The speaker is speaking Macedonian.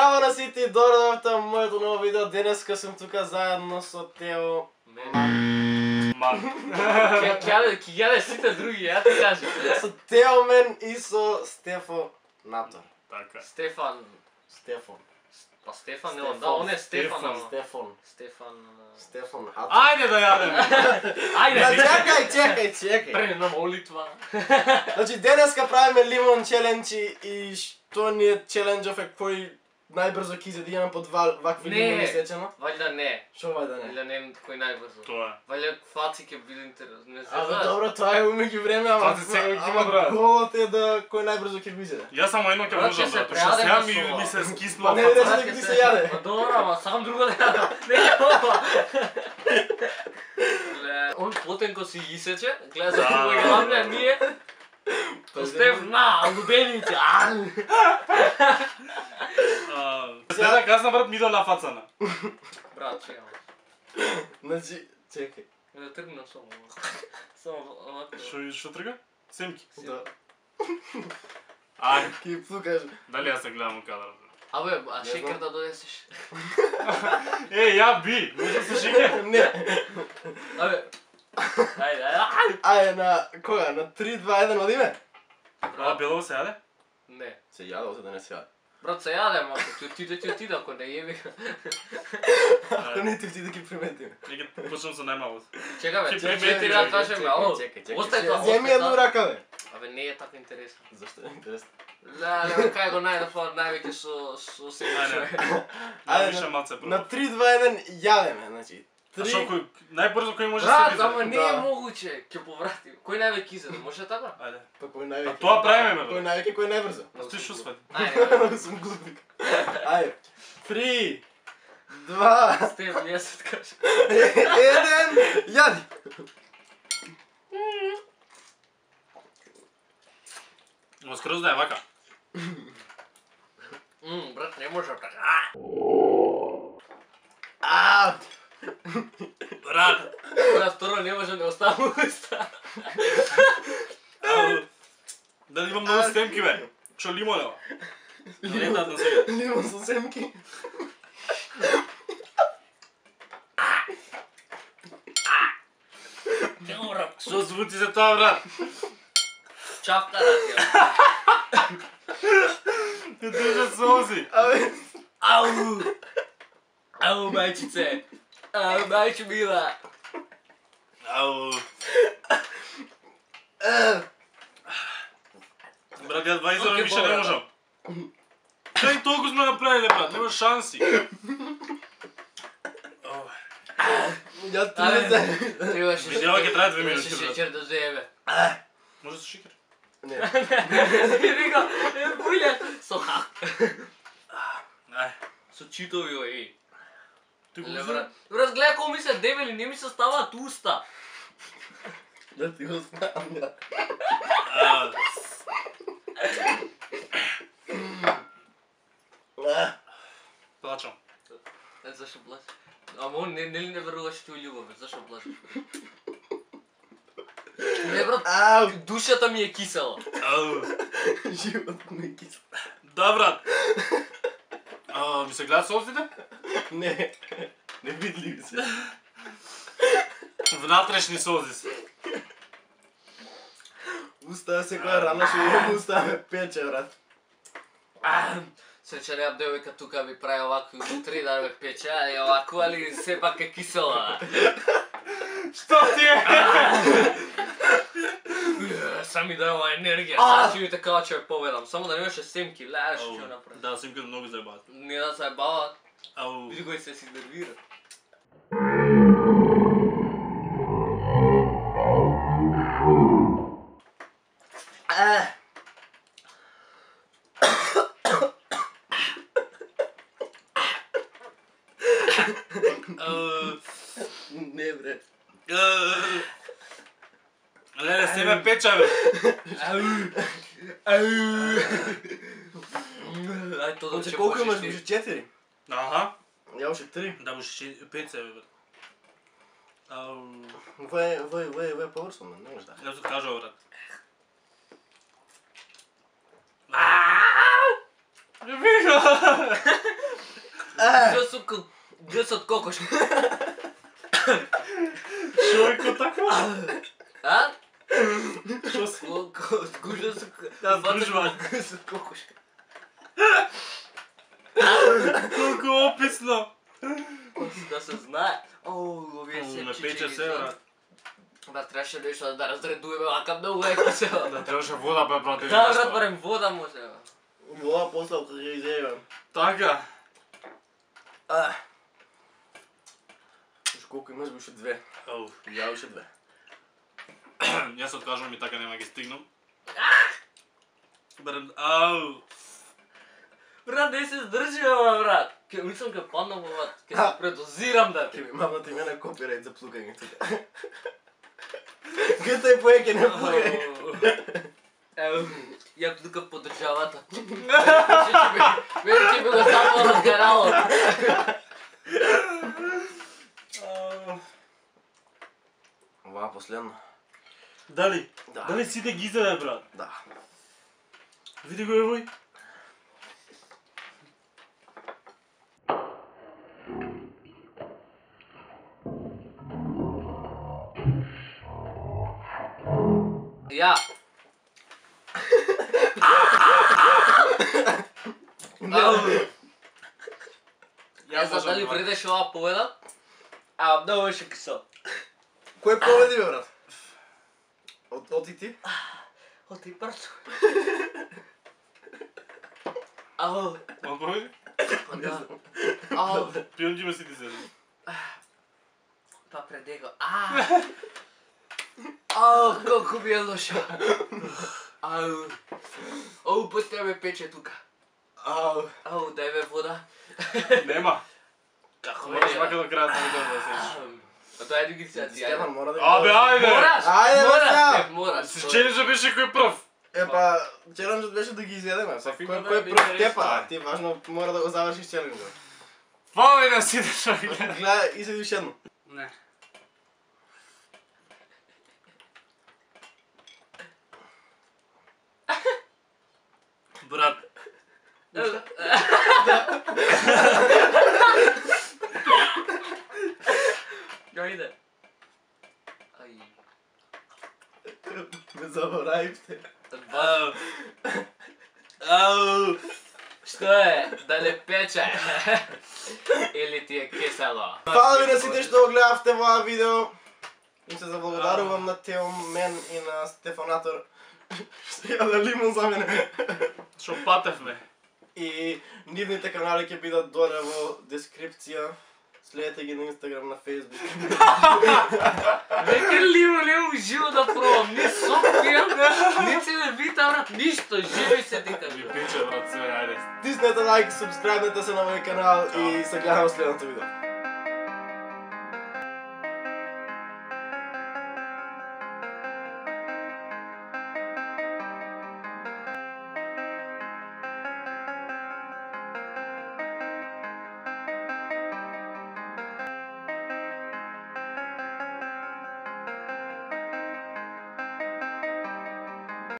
Здраво на сите, добро дојавте во моето ново видео. Денеска сум тука заедно со Тео. Ќе јаде сите други, ја ти кажам. Со Тео мен и со Стефо Натор. Така. Стефан. Па Стефан, да, он е Стефан. Стефан. Ајде да јадеме. Ајде. Чекај. Пред на молитва. Значи денеска правиме лимон челенџи и што ни е челенџов е кој најбрзо ќе изеде имам по два вакви лимони сечено. Вајда не. Што вајда не? Или не кој најбрзо. Тоа е. Вајда фаци ќе биде интересно. Не се Абе знае. добро, тоа е умеѓу време, ама Фаци секој ќе има, брат. голот е да кој најбрзо ќе го изеде. Јас само едно ќе Брат, можам ќе се да, што сега прејадеме ми со се скиснула Па не, фаца. дека ти се јаде. Па добро, ама сам друго да јадам. Не ова. Он потенко си исече, гледа за кога ќе лапне ние. Стеф на лубените. Сега казна брат ми на фацана. Брат, чекам. Значи, чекај. Да тргнам само. Само овако. Што трга? Семки. Да. Ај, Ки плукаш. дали јас се гледам у кадар? Абе, а шекер да донесеш? Ја би, може да се шеќер? Не. Абе. Ајде. Ајде на кога? На 3 2 1 одиме? А бело се јаде? Не. Се јадел, се да не се јаде. Брат, се јадем, ако ти отида, ако не јеби. Ако не ти да ги приметиме. Нека почнам со најмалото. Чекаме, Ќе 4 примети, да кажеме, ало. Чекај. Остај тоа, Земи остај една тоа. рака, бе. Абе, не е така интересно. Зашто е интересно? Да, кај го најдов највеќе со се. Ајде. Ајде, Више малце На прво. 3 2 1 јадеме, значи. А што кој најбрзо кој може да Брат, се ама биде? не е могуче, ќе повратим. Кој највеќе изеде, може така? Ајде. Па кој највеќе? А тоа правиме, бе. Кој највеќе, кој најбрзо? А ти што свати? Ајде, Сум глупик. Ајде. 3 2 Стеф, не се кажа. 1 јади. Ма скроз да е вака. Брат, не може така. Брат. Брат, второ не може да оставам уста. Дали имам многу стемки, бе? Што лимон е ова? Не дадам сега. Лимон со семки. Што звути за тоа, брат? Чавка радија. Ти држа сози. Абе, Ау! Ау, мајчице! Ау, мајче мила! Ау. Брат, јас 20 Окей, више не добро. можам. Кај толку сме направиле, брат, нема шанси. ја ти Требаше Видео ќе трае 2 минути, Требаше брат. шеќер да земе. Може со шекер? Не. Вика, булја со хак. Ај. Со читови, ој. Ти го Ле, узна? брат. Брат, гледа колку ми се дебели, не ми се ставаат уста. Да ти го знам, ја. Плачам. Зашо плачеш? Ама он нели не веруваш ти у љубов, бе, зашо плачеш? Не, брат, Ау, душата ми е кисела. Ау. живот ми е кисел. Да, брат. Ми се гледат созите? Не, не видли се. Внатрешни сози се. Уста секоја рана што имам уста ме пече, брат. Среќа неам девојка тука ми прави овако утре да ме пече, и овако, али сепак е кисела. Што ти е? Сам ми дава енергија, сам ќе ми така ќе ја победам. Само да немаше семки, леш Ау. ќе направи. Да, симката многу заебават. Не да се бават, Ау. види кој се си нервира. Не, бре. Леле, се ме печа, бе. Ај, тоа Значи колку имаш? Беше 4? Аха. Ја уште 3. Да, може 5 се, бе. Ау. Ве поврсно, не може да. Не се кажува, брат. Грсот кокошки. Човеко така? А? Што си? Гужа со... Да, дружба. Грсот кокошки. Колку описно. Да се знае. Овие се Ме чичи пече ги се, знаат. брат. Ба, трябваше нешто да разредуеме, ака многу е кисело. Да, требаше вода, бе, брат. Да, брат, барем вода може, бе. Вода после кога ќе изејам. Така. Уште колку имаш, уште 2. Ау. Ја уште 2. Јас откажувам и така нема ги стигнам. Барем, ау. Брат, не се здржи, бе, брат. Мислам ке паднам, брат. Ке се предозирам, да. Ќе ми мамна ти мене копирајт за плукање тука. Гето е поеќе не плукај. Еу, ја тука подржавата. Мене ќе би го запало на канало. Ова последно. Дали? Да. Дали сите ги изеде, брат? Да. Види го евој. Ја. Ја знам дали вредеше ова победа, а многу беше кисел. Кој победи, бе, брат? Оти ти? Оти брат. Ау. Он победи? Да. Ау. Пионџи ме си ти седи. Па пред него. Ау, колку ми е лошо. Ау. Оу, път ме пече тука. Ау. Ау, дај ме вода. Нема. Како Мораш вака до крајот на видеото да седиш. А тоа е ги сега ти. Стефан мора да ги... Абе, ајде! Мораш! Ајде, бе, сега! Мораш, мораш. Се челенџа беше кој прв. Епа, челенџот беше да ги изедеме. Сафина Кој да е би прв не тепа? решила. Ти важно мора да го завршиш челенџот. Фали да си дешо гледа. Гледај, изеди уште едно. Не. Брат. Ја иде. Ај. Ме заборавивте. Ау. Ау. Што е? Да не пече? Или ти е кисело? Фала ви на сите што го гледавте во ова видео. Им се заблагодарувам на Тео, мен и на Стефанатор. Што ја да лимон за мене. Шо патевме. И нивните канали ќе бидат доле во дескрипција. Следете ги на Инстаграм, на Фейсбук. Нека лимо уживо да пробам, ни сопија, ни целевита, брат, ништо, живи се дека. Ми пиче, брат, све, ајде. Тиснете лайк, субскрайбнете се на мој канал и се гледаме во следното видео.